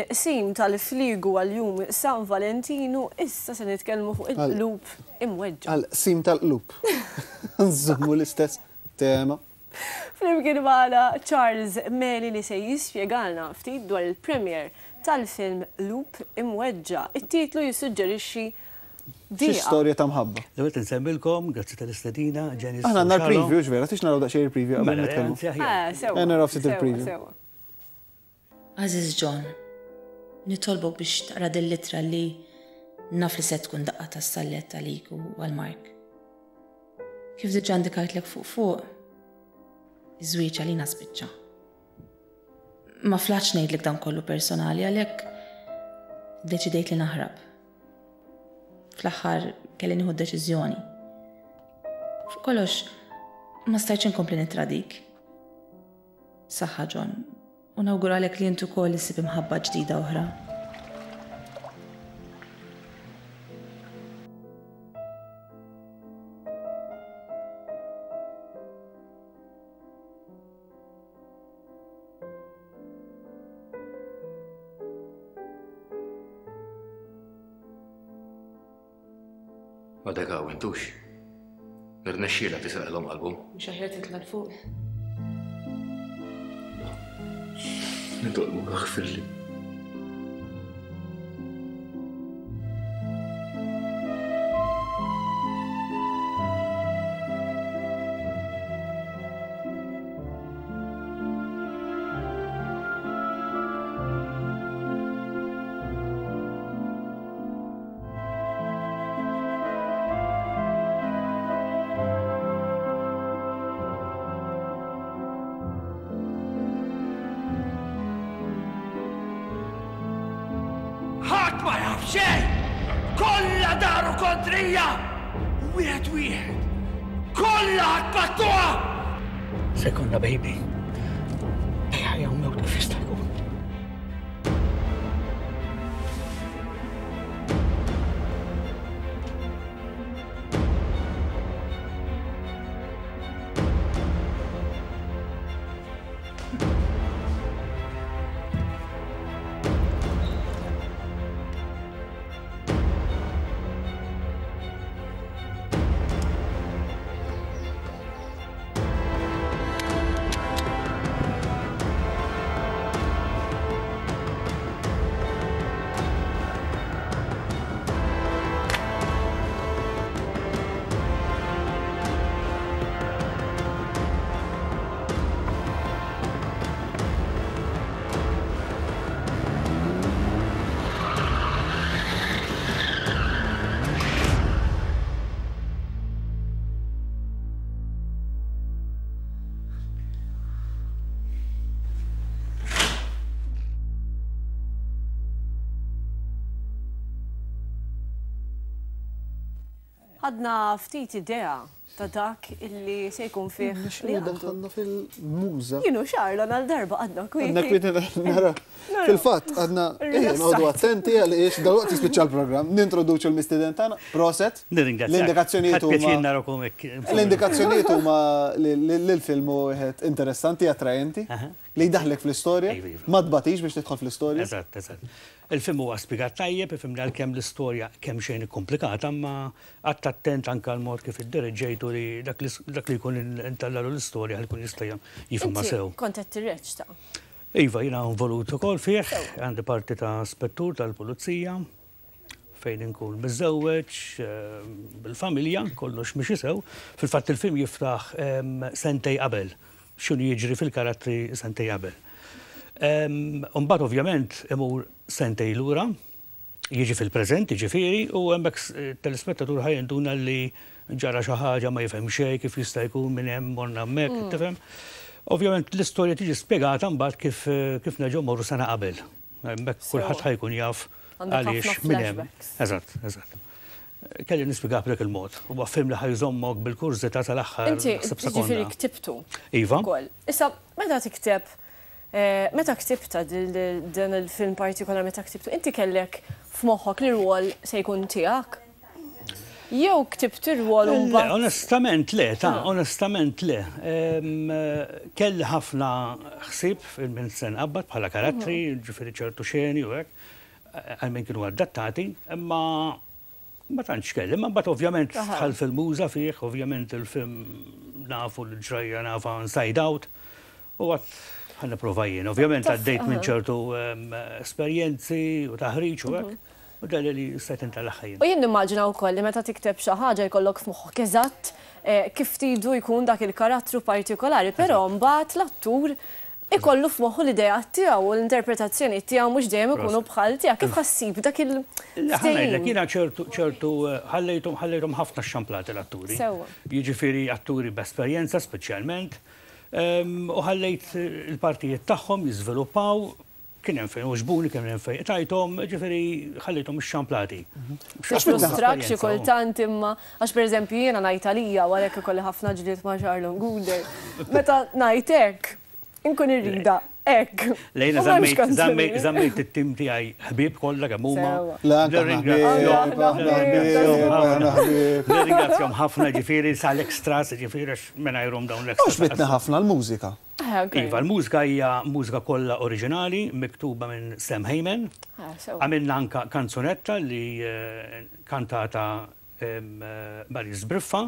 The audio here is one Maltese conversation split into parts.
Minn qsim tal-fliegu għal Jum San Valentinu, issa se nitkellmu fuq il-qlub imweġġa'. Għal qsim tal-qlub. Nżommu l-istess tema. Flimkien magħna Charles Meli li se jispjegalna ftit dwar il-premiere tal-film Qlub Imweġġa'. It-titlu jissuġġerixxi Xi dieqa. storja ta' mħabba. L-ewwel nett insellmilkom, grazzi tal-istedina, Janice Aħna u għandna Shalom. l-preview, hux vera? Tix naraw daqsxejn il-preview qabel Mela, le, nitkellmu. anzi aħjar. Eh, sewwa. Ejja naraw ftit Sewwa, il-preview. sewwa. Għażiż John, nitolbok biex taqra din l-ittra li naf li se tkun daqqa ta' sallett għalik u għal Mark. Kif diġà indikajtlek fuq fuq, iż-żwieġ għalina spiċċa. Ma flaħtx ngħidlek dan kollu personali għalhekk iddeċidejt li naħrab. Fl-aħħar kelli nieħu deċiżjoni. Fuq kollox, ma stajtx inkompli nittradik. Saħħa John, u nawguralek li int ukoll issib imħabba ġdida oħra. Għadek hawn intux. Irnexxielek tisraqilhom qalbhom. Mhux aħjar titla' 'l fuq? Nitolbuk aħfirli. Ħadd ma jaf xejn! Kollha daru kontrija! Wieħed wieħed! Kollha ħadd Se jkollna baby. Bejn ħajja u mewt kif jista' jkun. Ħadna ftit idea ta' dak illi se jkun fih li għandu. Daħħalna fil-muża. Jienu Charlon għal darba għadna kwieti. Għadna kwieti nara. Fil-fatt, għadna noqogħdu attenti għaliex dalwaqt jispiċċa l-programm. Nintroduċu l-mistieden tagħna. Proset. Nirringrazzjak. L-indikazzjonijiet Ħadt pjaċir huma narakom hekk. L-indikazzjonijiet huma li l-film hu wieħed interessanti, attraenti, li jdaħħlek fl-istorja. Iva, iva. Ma tbatix biex tidħol fl-istorja. Eżatt, eżatt. Il-film huwa spjegat tajjeb, ifhimni għalkemm l-istorja kemm xejn ikkomplikata, imma qgħadt attent anke għall-mod kif iddereġġejtu li dak li dak li jkun intallalu l-istorja ħalli jkun jista' jifhimha Inti sew. kont qed tirreċta. Iva, jiena involut ukoll fih, għandi parti ta' spettur tal-pulizija fejn inkun miżżewweġ, bil-familja, kollox miexi sew. Fil-fatt il-film jiftaħ sentej qabel, x'inhu jiġri fil-karattri sentej qabel. Imbagħad ovvjament imur sentej lura, jiġi fil-preżent jiġifieri, u hemmhekk it-telespettatur ħa jinduna li ġara xi ħaġa ma jifhem xejn kif jista' jkun minn hemm morna hemmhekk, tifhem? Ovvjament l-istorja tiġi spjegata mbagħad kif kif nerġgħu mmorru sena qabel. Hemmhekk kulħadd ħa jkun jaf għaliex minn hemm. Eżatt, eżatt. Kelli nispjegah b'dak il-mod. Huwa film li ħa jżommok bil-kurżità sal-aħħar Inti naħseb sekonda. jiġifieri ktibtu. Iva. Ukoll. Issa meta tikteb Meta ktibtha dan il-film partikolari meta ktibtu, inti kellek f'moħħok li r-rwol se jkun tiegħek? Jew ktibt ir-rwol u Le, mbagħad. onestament le, ta' onestament le. Kelli ħafna ħsieb fil-min se nqabbad bħala karattri, ġifieri ċertu xeni u hekk, għal min kienu adattati, imma ma tantx kelli. Imma mbagħad ovvjament dħalt fil-muża fih, ovvjament il-film nafu l-ġrajja nafa inside out, u għad ħa nipprova jien. Ovvjament għaddejt minn ċertu esperjenzi u taħriġ u hekk, u dalli li stajt intellagħha jien. U jien nimmaġina wkoll li meta tikteb xi ħaġa jkollok f'moħħok eżatt kif tridu jkun dak il-karattru partikolari, però mbagħad l-attur ikollu f'moħħu l-ideat tiegħu u l-interpretazzjonijiet tiegħu mhux dejjem ikunu bħal tiegħek. Kif ħa ssib dak Le, ħa ngħidlek, il-ftehim? jiena ċertu ċertu ħallejthom ħallejthom ħafna xxamplati l-atturi. Sewwa. Jiġifieri atturi b'esperjenza speċjalment. U ħallejt il-partijiet tagħhom jiżviluppaw, kien hemm fejn għoġbuni, kien hemm fejn qtajthom, ġifieri ħallejthom ixxamplati. Tiffrustrak xi kultant imma għax pereżempju jiena ngħid għalija u għalhekk ikolli ħafna ġlied ma' Charlon Gouder, meta ngħid hekk, inkun irridha hekk. Le jiena żammejt żammejt it-tim tiegħi ħbieb kollha kemm huma. Le anke aħna ħbieb, aħna ħbieb, aħna ħbieb. Nirringrazzjahom ħafna ġifieri sal-extras, ġifieri għax mingħajrhom dawn l-extras. Għoġbitni ħafna l-mużika. Iva, l-mużika hija mużika kollha oriġinali miktuba minn Sam Hayman. Għamilna anke kanzunetta li kantata Maris Briffa,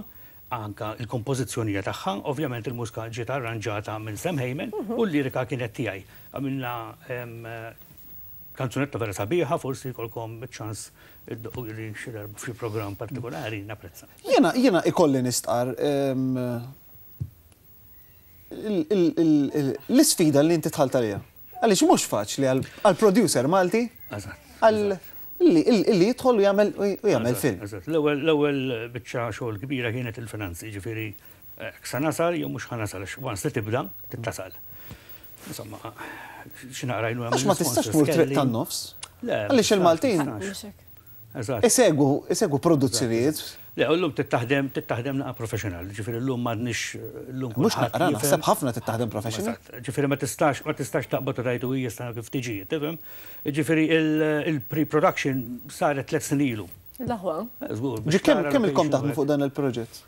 anke l-kompożizzjoni hija tagħha. Ovvjament il-mużika ġiet arranġata minn Sam Hayman u l-lirika kienet tiegħi. Għamilna kanzunetta vera sabiħa, forsi jkollkom iċ-ċans iddoqquli xi darba f'xi programm partikolari, napprezza. Jiena jiena ikolli nistqarr l-isfida li inti dħalt għaliha. Għaliex mhux faċli għal producer Malti għal illi jidħol u jagħmel u jagħmel film. Eżatt. L-ewwel biċċa xogħol kbira kienet il-finanzi, jiġifieri hekk sa nasal jew mhux ħa nasal għax once li tibda trid tasal. Insomma, xi naqra għajnuna Għax ma tistax tmur triq tan-nofs. Le. Għaliex il-Maltin Eżatt. Isegwu, isegwu produzzjonijiet. Le, u llum trid taħdem, trid taħdem naqa' professional, ġifieri llum m'għadniex llum Mhux naqra, naħseb ħafna trid taħdem professional. Eżatt, ġifieri ma tistax, ma tistax taqbad u tgħid u hija issa kif tiġi, tifhem? Ġifieri il-pre-production saret tlett snin ilu. L-aħwa. Żgur. Ġi kemm kemm ilkom taħdmu fuq dan il-proġett?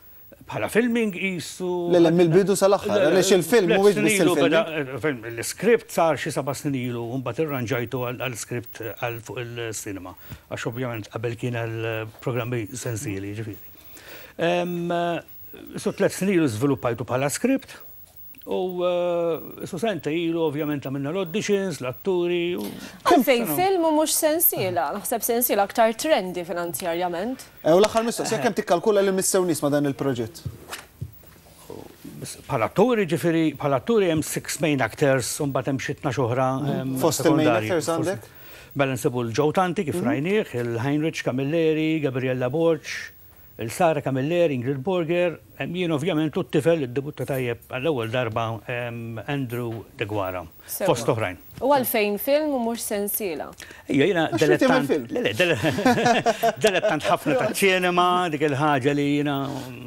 Bħala filming qisu. Le le mill-bidu sal-aħħar, għaliex il-film mhuwiex biss il-filming. L-iskript sar xi seba' snin ilu u mbagħad irranġajtu għal skript għal fuq il-cinema. Għax ovvjament qabel kien għal programmi sensieli, jiġifieri. So tlett snin ilu żviluppajtu bħala skript U su sentej ilu ovvjament għamilna l-auditions, l-atturi. Għalfejn film u mhux sensiela? Naħseb sensiela aktar trendy finanzjarjament. U l-aħħar mistoqsija, kemm tikkalkula li missew nies ma' dan il-proġett? Bħala atturi, ġifieri, bħala atturi hemm six main actors u mbagħad hemm xi 12 oħra Fost il-main actors għandek? Mela nsibu l-Joe Tanti kif rajnieh, il-Heinrich Camilleri, Gabriella Borg, Il-Sara Camilleri, Ingrid Borger, jien ovvjament u t-tifel li ddebutta tajjeb għall-ewwel darba Andrew Deguara, fost oħrajn. U għalfejn film u mhux sensiela? Ejja, jiena dilettant. Le, le, dilettant ħafna taċ-ċinema, dik il-ħaġa li jiena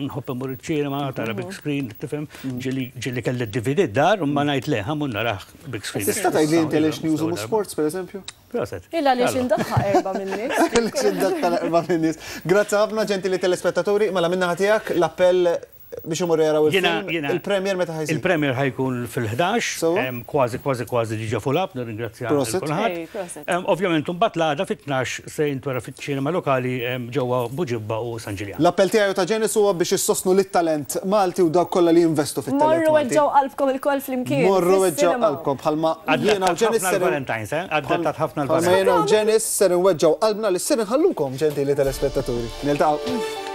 nħobb immur iċ-ċinema, tara big screen, tifhem, ġieli kelli d-DVD d-dar, imma ngħid le, ħa mmur narah big screen. Tista' tgħidli inti għaliex news u mhux sports, pereżempju? Proset. Il għaliex indaħħaq erba' min-nies. Għaliex indaħħal erba' min-nies. Grazzi ħafna ġentili telespettaturi, mela min-naħa tiegħek l-appell biex imorru jaraw il-film. Il-premier meta ħa jsir? Il-premier ħa jkun fil-11, kważi kważi kważi diġà full up, nirringrazzja lil kulħadd. Ovvjament imbagħad l-għada fit-12 se jintwera fiċ-ċinema lokali ġewwa Buġibba u San Ġiljan. L-appell tiegħi u ta' Janice huwa biex issostnu lit-talent Malti u dawk kollha li jinvestu fit-talent Malti. Morru weġġgħu qalbkom ilkoll flimkien. Morru weġġgħu qalbkom bħalma jiena u Janice ser. Valentine's, eh? Adattat ħafna Bħalma jiena u Janice ser inweġġgħu qalbna li ser inħallukom, ġentili telespettaturi. Niltaqgħu.